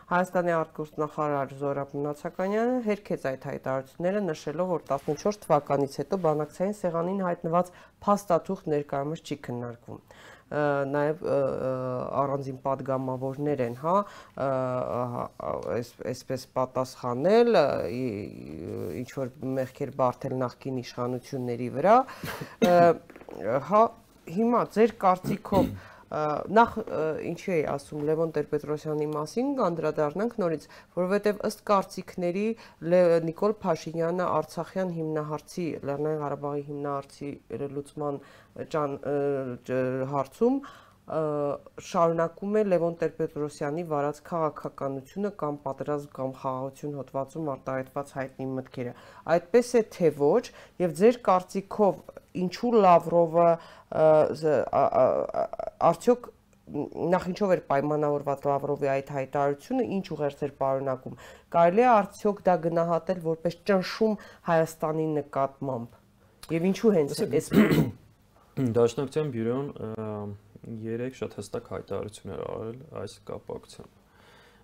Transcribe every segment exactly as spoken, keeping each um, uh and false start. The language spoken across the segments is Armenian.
Հայաստանի արտգործնախարար Զորաբ Մնացականյանը հերքեց այդ հայտարարությունները, նշելով, որ տասնչորս թվականից հետո բանակցային սեղանին հայտնված փաստաթուղթ ներկայումս չի քննարկվում։ Նաև առանձին падգամավորներ են, հա, այսպես պատասխանել, ինչ որ մեղքեր բարթել նախկին իշխանությունների վրա, հա, հիմա ձեր կարծիքով նախ ինչի էի ասում Լևոն Տեր-Պետրոսյանի մասին կանդրադառնանք նորից, որովհետև ըստ կարծիքների Նիկոլ Փաշինյանը Արցախյան հիմնահարցի, Լեռնային Ղարաբաղի հիմնահարցի լուծման հարցում շարունակում է Լևոն Տեր-Պետրոսյանի վարած քաղաքականությունը կամ պատերազմ կամ խաղաղություն հոդվածում արտահայտված հայտնի մտքերը։ Այդպես է թե ոչ, եւ ձեր կարծիքով ինչու Լավրովը արդյոք նախ ինչով էր պայմանավորված Լավրովի այդ հայտարարությունը, ինչ ուղերձ էր պարունակում, կարելի է արդյոք դա գնահատել որպես ճնշում Հայաստանի նկատմամբ եւ ինչու հենց այս Դաշնակցության բյուրոն երեք շատ հստակ հայտարարություններ արել այս կապակցությամբ,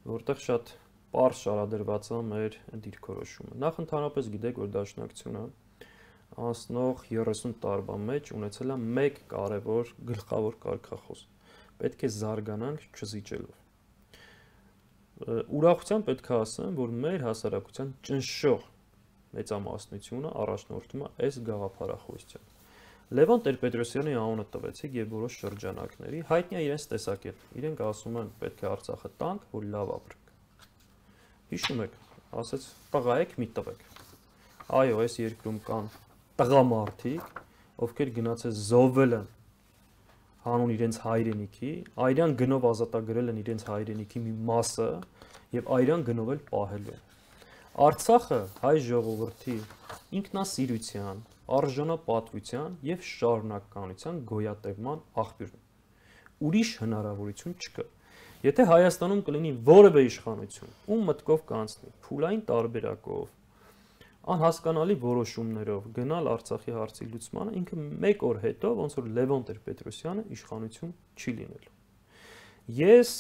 որտեղ շատ պարզ շարադրված է մեր դիրքորոշումը։ Նախ ընդհանրապես գիտեք, որ Դաշնակցությունը անցնող երեսուն տարվա մեջ ունեցել է մեկ կարևոր գլխավոր կարգախոս. պետք է զարգանանք չզիջելով։ Ուրախությամբ պետք է ասեմ, որ մեր հասարակության ճնշող մեծամասնությունը առաջնորդում է այս գաղափարախոսությամբ։ Լևոն Տեր-Պետրոսյանի անունը տվեցիք եւ որոշ շրջանակների հայտնի է իրենց տեսակետը։ Իրենք ասում են պետք է Արցախը տանք, որ լավ ապրենք։ Հիշում եք, ասեց տղա եք մի տվեք։ Այո, այս երկրում կան տղամարդիկ, ովքեր գնացել զոհվել են հանուն իրենց հայրենիքի, այրան գնով ազատագրել են իրենց հայրենիքի մի մասը եւ այրան գնով էլ պահելու են։ Արցախը հայ ժողովրդի ինքնասիրության, արժանապատվության եւ շարունակականության գոյատևման աղբյուրն է։ Ուրիշ հնարավորություն չկա։ Եթե Հայաստանում կլինի որևէ իշխանություն, ում մտքով կանցնի փուլային տարբերակով, անհասկանալի որոշումներով գնալ Արցախի հարցի լուծմանը, ինքը մեկ օր հետո ոնց որ Լևոն Տեր-Պետրոսյանը իշխանություն չի լինելու։ Ես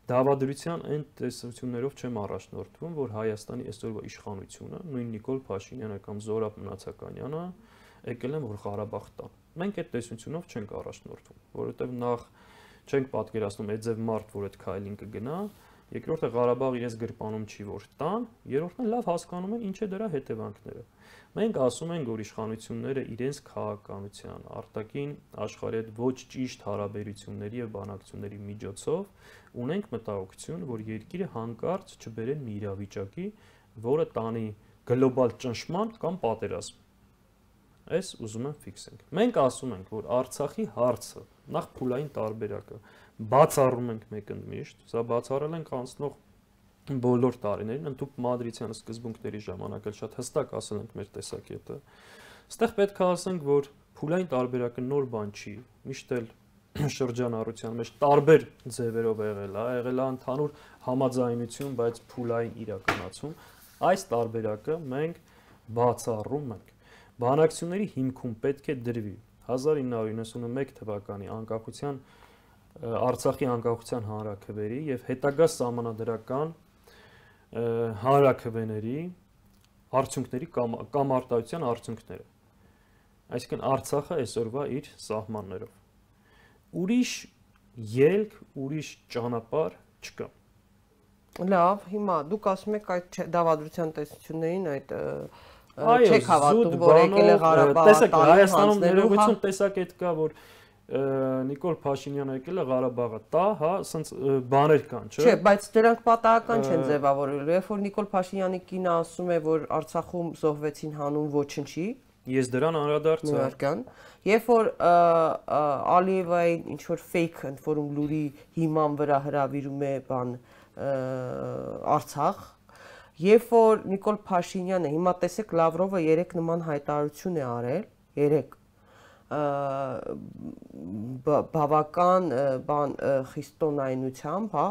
դավադրության այն տեսություններով չեմ առաջնորդվում, որ Հայաստանի այսօրվա իշխանությունը, նույն Նիկոլ Փաշինյանը կամ Զորաբ Մնացականյանը եկել են որ Ղարաբաղ տան։ Մենք այդ տեսությունով չենք առաջնորդվում, որովհետև նախ չենք պատկերացնում այդ ձև մարդ, որ այդ քայլին կգնա, երկրորդը Ղարաբաղ իրենց գրպանում չի որ տան, երրորդն լավ հասկանում են ինչ է դրա հետևանքները։ Մենք ասում ենք, որ իշխանությունները իրենց քաղաքականության, արտաքին աշխարհի հետ ոչ ճիշտ հարաբերությունների եւ բանակցությունների միջոցով ունենք մտահոգություն, որ երկիրը հանկարծ չբերեն մի իրավիճակի, որը տանի գլոբալ ճնշման կամ պատերազմ։ Այս ուզում եմ ֆիքսենք։ Մենք ասում ենք, որ Արցախի հարցը, նախ փուլային տարբերակը, բացառում ենք մեկընդմիշտ, սա բացառել ենք անցնող բոլոր տարիներին, ընդհանուր Մադրիդյան սկզբունքների ժամանակ էլ շատ հստակ ասել ենք մեր տեսակետը։ Այստեղ պետք է ասենք, որ փուլային տարբերակը նոր բան չի, միշտ էլ շրջանառության մեջ տարբեր ձևերով եղել է, եղել է ընդհանուր համաձայնություն, բայց փուլային իրականացում։ Այս տարբերակը մենք բացառում ենք։ Բանակցությունների հիմքում պետք է դրվի հազար ինը հարյուր իննսունմեկ թվականի անկախության Արցախի անկախության հանրաքվերի եւ հետագա սահմանադրական հանրաքվեների արդյունքների կամ, կամ արտահայտության արդյունքները։ Այսինքն Արցախը այսօրվա իր սահմաններով։ Ուրիշ ելք, ուրիշ ճանապարհ չկա։ Լավ, հիմա դուք ասում եք այդ դավադրության տեսություններին այդ չեք հավատում, որ եկել է Ղարաբաղ, տեսեք, Հայաստանում ներողություն տեսակետ կա, որ Նիկոլ Փաշինյանը եկել է Ղարաբաղը տա, հա, ասենց բաներ կան, չէ՞։ Չէ, բայց դրանք պատահական չեն ձևավորելու։ Երբ որ Նիկոլ Փաշինյանի կինը ասում է, որ Արցախում զոհվեցին հանուն ոչնչի, ես դրան անդրադարձա։ Երբ որ Ալիևային ինչ որ fake ընդ որում լուրի հիման վրա հրավիրում է բան Արցախ, երբ որ Նիկոլ Փաշինյանը, հիմա տեսեք Լավրովը երեք նման հայտարարություն է արել, երեք բավական բան խիստոնայնությամբ, հա,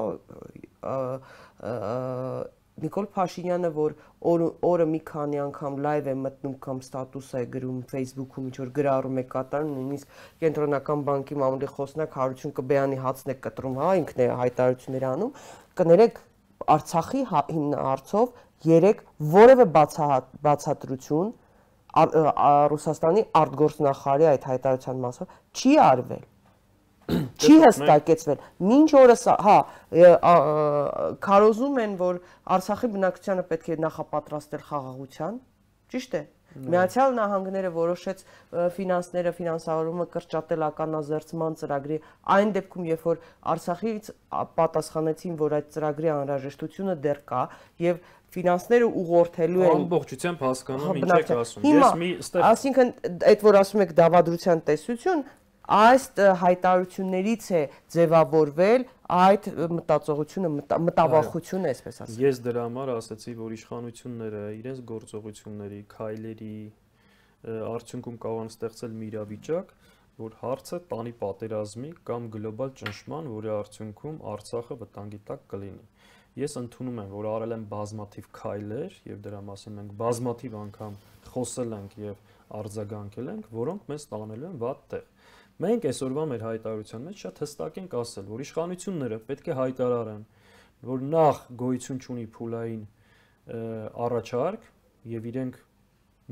Նիկոլ Փաշինյանը, որ օրը մի քանի անգամ լայվ է մտնում կամ ստատուս է գրում Facebook-ում, ինչ որ գրառում է կատարում, նույնիսկ Կենտրոնական բանկի մամուլի խոսնակ Հարություն Կբեյանի հացն է կտրում, հա, ինքն է հայտարարություններ անում, կներեք Արցախի հիմնարարցով երեք որևէ բացատրություն Ռուսաստանի արտգործնախարարի այդ հայտարարության մասով չի արվել։ Չի հստակեցվել։ Մինչ օրս, հա, քարոզում են, որ Արցախի բնակչությանը պետք է նախապատրաստել խաղաղության, ճիշտ է։ Միացյալ Նահանգները որոշեց ֆինանսները, ֆինանսավորումը կրճատել ականազերծման ծրագրի այն դեպքում, երբ որ Արցախից պատասխանեցին, որ այդ ծրագրի անհրաժեշտությունը դեռ կա եւ ֆինանսները ուղղորդելու են ամբողջությամբ հասկանում ինչ եք ասում։ Ես մի այսինքն այդ որ ասում եք դավադրության տեսություն, այս հայտարարություններից է ձևավորվել այդ մտածողությունը, մտավախությունը, այսպես ասած։ Ես դրա համար ասացի, որ իշխանությունները իրենց գործողությունների, քայլերի արդյունքում կարող են ստեղծել մի իրավիճակ, որ հարցը տանի պատերազմի կամ գլոբալ ճնշման, որի արդյունքում Արցախը վտանգի տակ կլինի։ Ես ընդունում եմ, որ արել են բազմաթիվ քայլեր եւ դրա մասին մենք բազմաթիվ անգամ խոսել ենք եւ արձագանքել ենք, որոնք մեզ տանելու են վատ տեղ։ Մենք այսօրվա մեր հայտարարության մեջ շատ հստակ ենք ասել, որ իշխանությունները պետք է հայտարարեն, որ նախ գոյություն չունի փուլային առաջարկ եւ իրենք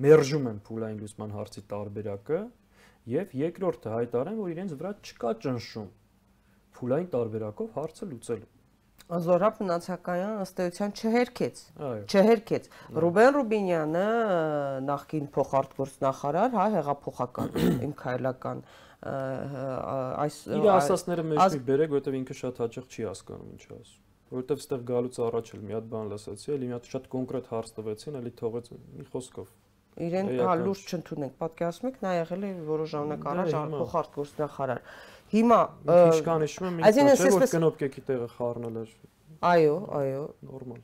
մերժում են փուլային լուսման հարցի տարբերակը եւ երկրորդը հայտարարեն, որ իրենց վրա չկա ճնշում փուլային տարբերակով հարցը լուծելու։ Զորապ Մնացականյան ըստ էության չհերքեց, չհերքեց։ Ռուբեն Ռուբինյանը նախկին փոխարտգործնախարար, հա, հեղափոխական, իմ քայլական այս իր ասածները մեջ մի բերեք, որովհետև ինքը շատ հաճախ չի հասկանում ինչ ասում։ Որովհետև այստեղ գալուց առաջ էլ մի հատ բան լսեցի, էլի մի հատ շատ կոնկրետ հարց տվեցին, էլի թողեց մի խոսքով։ Իրեն հա լուրջ չընդունենք, պատկերացնում եք, նա եղել է որոշ ժամանակ առաջ փոխարտգործնախարար։ Հիմա Քիշկան հիշում եմ, ինքը չէ որ կնոպկեքի տեղը խառնել էր։ Այո, այո, նորմալ։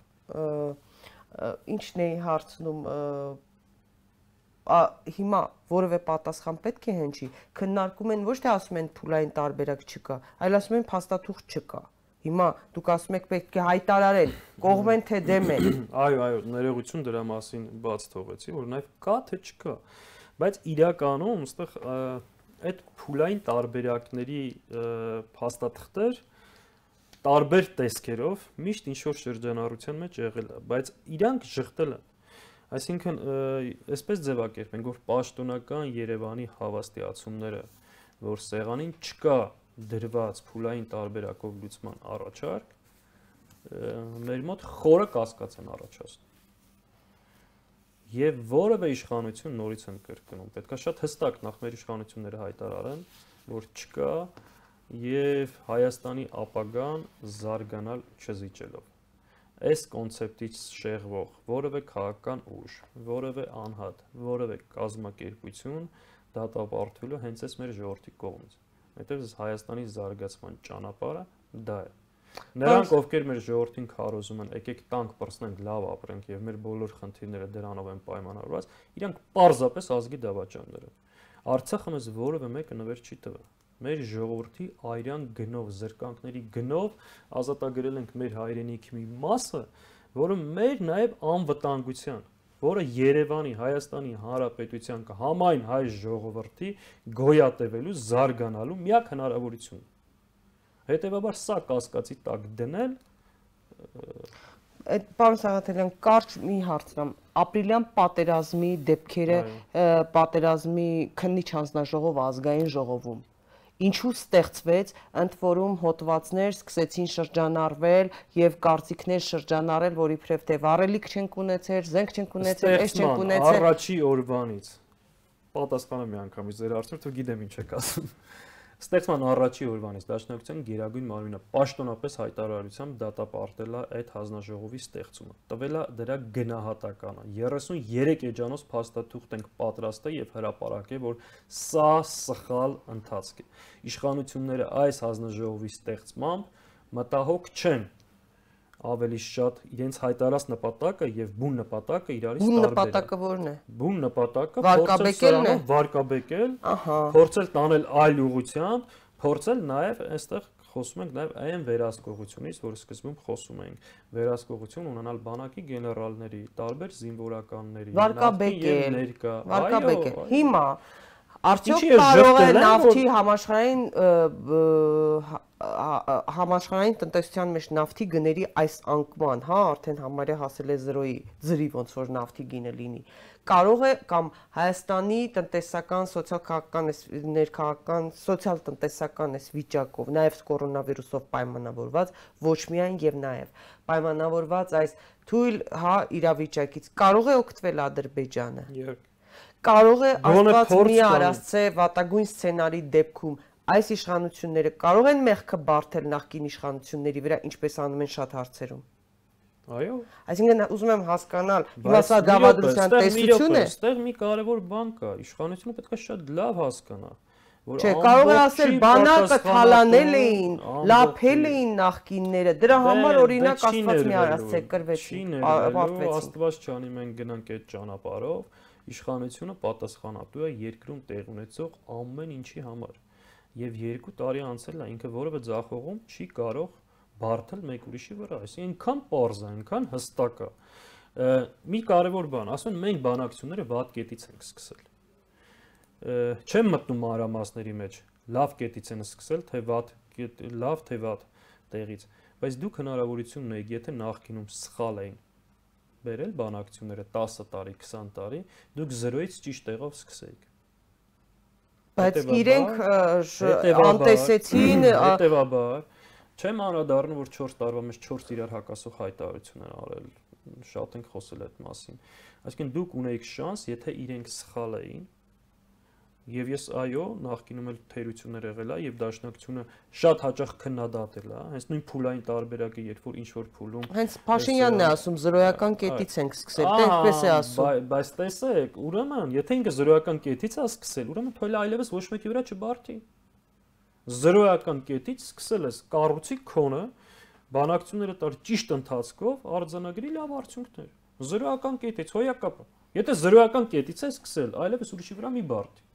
Ինչն է հարցնում հիմա որևէ պատասխան պետք է հնչի, քննարկում են ոչ թե ասում են փուլային տարբերակ չկա, այլ ասում են փաստաթուղթ չկա։ Հիմա դուք ասում եք պետք է հայտարարել, կողմ են թե դեմ են։ Այո, այո, ներողություն դրա մասին բաց թողեցի, որ նաև կա թե չկա։ Բայց իրականում այստեղ այդ փուլային տարբերակների փաստաթղթեր տարբեր տեսքերով միշտ ինչ որ շրջանառության մեջ եղել է, բայց իրանք շղթել են։ Այսինքն, այսպես ձևակերպենք, որ պաշտոնական Երևանի հավաստիացումները, որ սեղանին չկա դրված փուլային տարբերակով լուծման առաջարկ, մեր մոտ խորը կասկած են առաջացնում։ Եվ որևէ իշխանություն նորից են կրկնում, պետք է շատ հստակ նախ մեր իշխանությունները հայտարարեն, որ չկա եւ Հայաստանի ապագան զարգանալ չզիջելով։ Այս կոնցեպտից շեղվող որևէ քաղաքական ուժ, որևէ անհատ, որևէ կազմակերպություն դատապարտվելու հենց այս մեր ժողովրդի կողմից։ Այդտեղ Հայաստանի զարգացման ճանապարհը դա է։ Նրանք, ովքեր մեր ժողովրդին քարոզում են, եկեք տանք պրծնենք, լավ ապրենք եւ մեր բոլոր խնդիրները դրանով են պայմանավորված, իրանք պարզապես ազգի դավաճաններ են։ Արցախը մեզ որևէ մեկը նվեր չի տվել։ Մեր ժողովրդի այրան գնով, զրկանքների գնով ազատագրել ենք մեր հայրենիքի մի մասը, որը մեր նաև անվտանգության, որը Երևանի, Հայաստանի Հանրապետության համայն հայ ժողովրդի գոյատևելու, զարգանալու միակ հնարավորությունն է։ Հետևաբար սա կասկածի տակ դնել այդ պարոն Սաղաթելյան կարճ մի հարցնամ ապրիլյան պատերազմի դեպքերը պատերազմի քննիչ հանձնաժողով ազգային ժողովում ինչու ստեղծվեց ընդ որում հոդվածներ սկսեցին շրջանառվել եւ կարծիքներ շրջանառել որ իբրև թե վառելիք չենք ունեցել զենք չենք ունեցել այս չենք ունեցել առաջի օրվանից պատասխանը մի անգամից ձեր հարցին თუ գիտեմ ինչ եք ասում Ստեղծման առաջի օրվանից Դաշնակցության Գերագույն մարմինը պաշտոնապես հայտարարությամբ դատապարտել է այդ հանձնաժողովի ստեղծումը։ Տվել է դրա գնահատականը։ երեսուներեք էջանոց փաստաթուղթ ենք պատրաստել եւ հրապարակել, որ սա սխալ ընթացք է։ Իշխանությունները այս հանձնաժողովի ստեղծմամբ մտահոգ չեն ավելի շատ իրենց հայտարարած նպատակը եւ բուն նպատակը իրարից տարբեր են։ Բուն նպատակը ո՞րն է։ Բուն նպատակը վարկաբեկելն է, վարկաբեկել, ահա, փորձել տանել այլ ուղղությամբ, փորձել նաեւ այստեղ խոսում ենք նաեւ այն վերահսկողությունից, որ սկզբում խոսում էինք, վերահսկողություն ունենալ բանակի գեներալների, տարբեր զինվորականների, վարկաբեկել, ներկա, վարկաբեկել։ Հիմա արդյոք կարող է նավթի համաշխարհային համաշխարհային տնտեսության մեջ նավթի գների այս անկման, հա, արդեն համարյա հասել է զրոյի ձրի ոնց որ նավթի գինը լինի, կարող է կամ Հայաստանի տնտեսական, սոցիալ-քաղաքական, ներքաղաքական, սոցիալ-տնտեսական այս վիճակով, նաև կորոնավիրուսով պայմանավորված, ոչ միայն եւ նաև պայմանավորված այս թույլ, հա, իրավիճակից կարող է օգտվել Ադրբեջանը։ Կարող է Աստված մի արածե վատագույն սցենարի դեպքում այս իշխանությունները կարող են մեղքը բարթել նախկին իշխանությունների վրա, ինչպես անում են շատ հարցերում։ Այո։ Այսինքն ուզում եմ հասկանալ, հիմա սա դավադրության տեսություն է։ Այստեղ մի կարևոր բան կա, իշխանությունը պետք է շատ լավ հասկանա, որ չէ, կարող է ասել բանակը թալանել էին, լափել էին նախկինները, դրա համար օրինակ Աստված մի արածե կրվեցին, ապարտվեցին։ Աստված չանի, մենք գնանք այդ ճանապարհով, իշխանությունը պատասխանատու է երկրում տեղ ունեցող ամեն ինչի համար։ Եվ երկու տարի անցել է, ինքը որևէ ձախողում չի կարող բարթել մեկ ուրիշի վրա, այսինքն այնքան պարզ է, այնքան հստակ է։ Մի կարևոր բան, ասում են մենք բանակցությունները վատ կետից ենք սկսել։ Չեմ մտնում մանրամասների մեջ, լավ կետից են սկսել, թե վատ, լավ թե վատ տեղից, բայց դուք հնարավորություն ունեիք, եթե նախկինում սխալ էին բերել բանակցությունները տասը տարի, քսան տարի, դուք զրոյից ճիշտ տեղով սկսեիք։ Բայց իրենք անտեսեցին, հետևաբար չեմ անդրադառնում, որ չորս տարվա մեջ չորս իրար հակասող հայտարարություն են արել, շատ ենք խոսել այդ մասին։ Այսինքն դուք ունեիք շանս, եթե իրենք սխալ էին, եւ ես այո, նախկինում էլ թերություններ եղել է եւ դաշնակցությունը շատ հաճախ քննադատել է, հենց նույն փուլային տարբերակը, երբ որ ինչ որ փուլում հենց Փաշինյանն է ասում զրոյական կետից ենք սկսել, դե այդպես է ասում։ Բայց տեսեք, ուրեմն, եթե ինքը զրոյական կետից է սկսել, ուրեմն թույլ է այլևս ոչ մեկի վրա չբարթի։ Զրոյական կետից սկսել ես կառուցի քոնը, բանակցությունները տար ճիշտ ընթացքով արձանագրի լավ արդյունքներ։ Զրոյական կետից հոյակապը։ Եթե զրոյական կետից է սկսել, այլևս ուրիշի վրա մի բարթի։